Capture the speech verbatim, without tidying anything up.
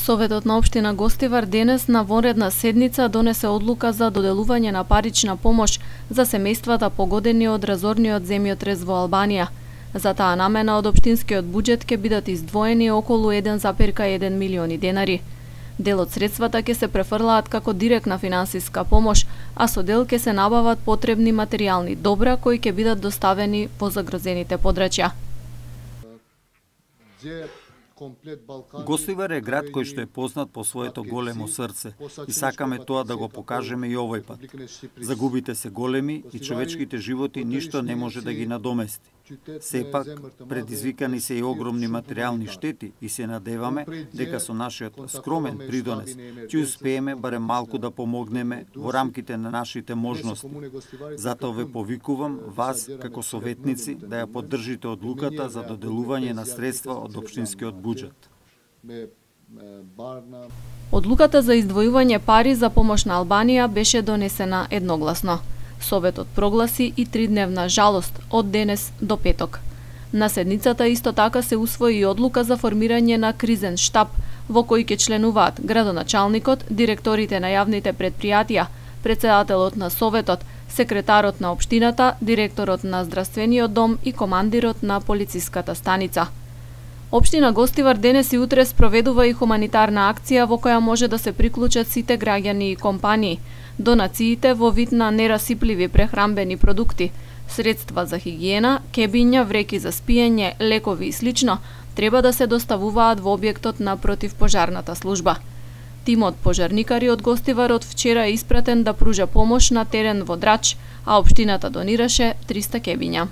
Советот на општина Гостивар денес на вонредна седница донесе одлука за доделување на парична помош за семејствата погодени од разорниот земјотрес во Албанија. За таа намена од општинскиот буџет ќе бидат издвоени околу еден зарез еден милиони денари. Дел од средствата ќе се префрлаат како директна финансиска помош, а со дел ќе се набават потребни материјални добра кои ќе бидат доставени во загрозените подрачја. Гостивар е град кој што е познат по своето големо срце и сакаме тоа да го покажеме и овој пат. Загубите се големи и човечките животи ништо не може да ги надомести. Сепак, предизвикани се и огромни материјални штети и се надеваме дека со нашиот скромен придонес ќе успееме барем малку да помогнеме во рамките на нашите можности. Затоа ве повикувам вас како советници да ја поддржите одлуката за доделување на средства од општинскиот буџет. Одлуката за издвојување пари за помош на Албанија беше донесена едногласно. Советот прогласи и тридневна жалост од денес до петок. На седницата исто така се усвои и одлука за формирање на кризен штаб во кој ќе членуваат градоначалникот, директорите на јавните предпријатија, претседателот на Советот, секретарот на општината, директорот на здравствениот дом и командирот на полициската станица. Општина Гостивар денес и утре спроведува и хуманитарна акција во која може да се приклучат сите граѓани и компании. Донациите во вид на нерасипливи прехранбени продукти, средства за хигиена, кебиња, вреки за спиење, лекови и слично треба да се доставуваат во објектот на противпожарната служба. Тимот пожарникари од Гостивар од вчера е испратен да пружа помош на терен во Драч, а општината донираше триста кебиња.